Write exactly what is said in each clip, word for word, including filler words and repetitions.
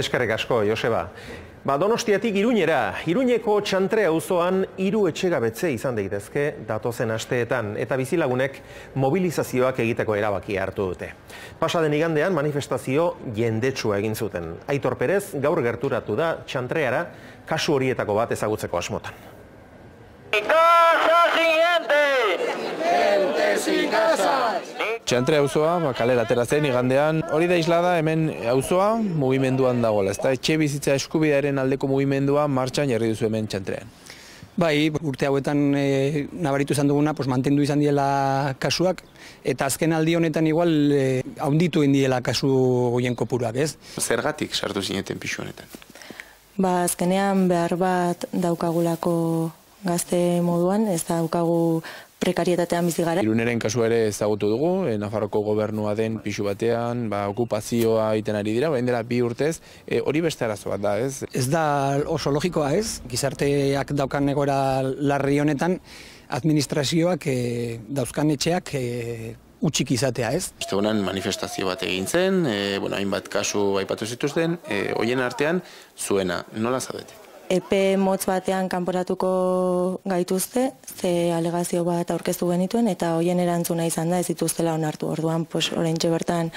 Eskerrik asko, Joseba. Ba, Donostiatik Iruñera, Iruñeko Txantre auzoan hiru etxegabetze izan daitezke datozen asteetan eta bizilagunek mobilizazioak egiteko erabakia hartu dute. Pasaden igandean manifestazio jendetsua egin zuten. Aitor Perez gaur gerturatu da Txantreara kasu horietako bat ezagutzeko asmotan. Txantre auzoa kalera atera zen igandean, hori da islada hemen auzoa mugimenduan dagoela, ezta etxe bizitza eskubidearen aldeko mugimendua martxan jarri duzu hemen Txantrean. Bai, urte hauetan e, nabaritu izan duguna, pues, mantendu izan diela kasuak, eta azken aldi honetan igual e, haunditu indiela kasu goien kopuruak, ez? Zergatik sartu zineten pixu honetan? Ba, azkenean behar bat daukagulako gazte moduan, ez daukagu prekarietatean bizi gara. Iruneren kasua ere ezagutu dugu, e, Nafarroko gobernua den pixu batean, ba, okupazioa egiten ari dira, bain dela bi urtez, e, hori beste arazo bat da, ez? Ez da oso logikoa, ez? Gizarteak daukan egoera larri honetan, administrazioak e, dauzkan etxeak e, utxik izatea, ez? Ostegunean manifestazio bat egin zen, e, bueno, hainbat kasu aipatu zituzten, e, hoien artean zuena, nola zaudete? Epe motz batean kanporatuko gaituzte, ze alegazio bat aurkeztu genituen, eta hoien erantzuna izan da ez dituztela onartu. Orduan, pues, oraintxe bertan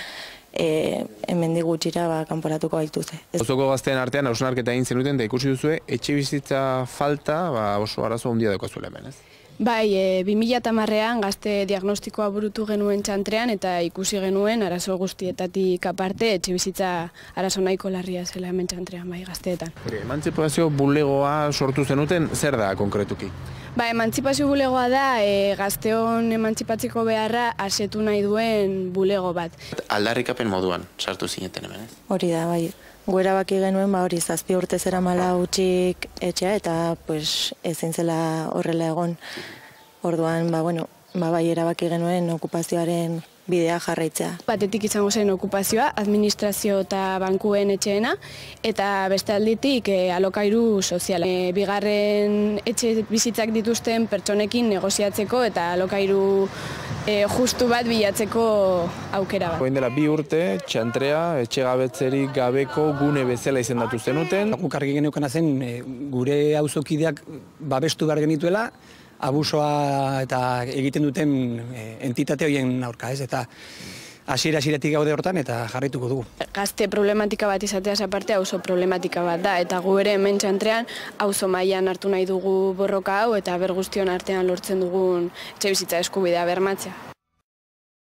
e, hemendik gutxira ba, kanporatuko gaituzte. Auzoko gazteen artean hausnarketa egin zenuten eta ikusi duzue, etxe bizitza falta ba, oso arazo handia daukazuela hemen, ez? Bai, e, bi mila hamarrean gazte diagnostikoa burutu genuen Txantrean eta ikusi genuen arazo guztietatik aparte etxebizitza arazo nahiko larria zela hemen Txantrean, bai, gazteetan. Emantzipazio bulegoa sortu zenuten, zer da konkretuki? Ba, emantzipazio bulegoa da e, gazteon emantzipatzeko beharra asetu nahi duen bulego bat. Aldarrikapen moduan sartu zineten hemen, ez? Hori da, bai. Gu erabaki genuen, ba, hori zazpi urte zeramala utxik etxea, eta pues, ezin zela horrela egon. Orduan, ba, bueno, ba, bai erabaki genuen okupazioaren bidea jarraitzea. Batetik izango zen okupazioa, administrazio eta bankuen etxeena, eta beste alditik e, alokairu soziala. E, bigarren etxe bizitzak dituzten pertsonekin negoziatzeko eta alokairu e, justu bat bilatzeko aukera bat. Orain dela bi urte, Txantrea etxegabetzerik gabeko gune bezala izendatu zenuten. Guk argi geneukana zen e, gure auzokideak babestu behar genituela, abusoa eta egiten duten e, entitate horien aurka, ez? Eta hasiera hasieratik gaude hortan eta jarraituko dugu. Gazte problematika bat izateaz aparte auzo problematika bat da, eta gu ere hemen Txantrean auzo mailan hartu nahi dugu borroka hau eta ber guztion artean lortzen dugun etxebizitza eskubidea bermatzea.